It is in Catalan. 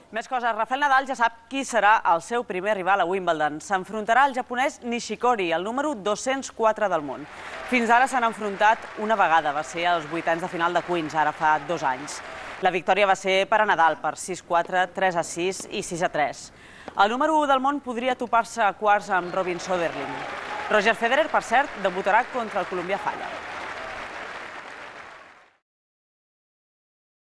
Més coses, Rafael Nadal ja sap qui serà el seu primer rival a Wimbledon. S'enfrontarà al japonès Nishikori, el número 204 del món. Fins ara s'han enfrontat una vegada, va ser als vuitens de final de Queens, ara fa 2 anys. La victòria va ser per a Nadal, per 6-4, 3-6 i 6-3. El número 1 del món podria topar-se a quarts amb Robin Söderling. Roger Federer, per cert, debutarà contra el colombià Falla.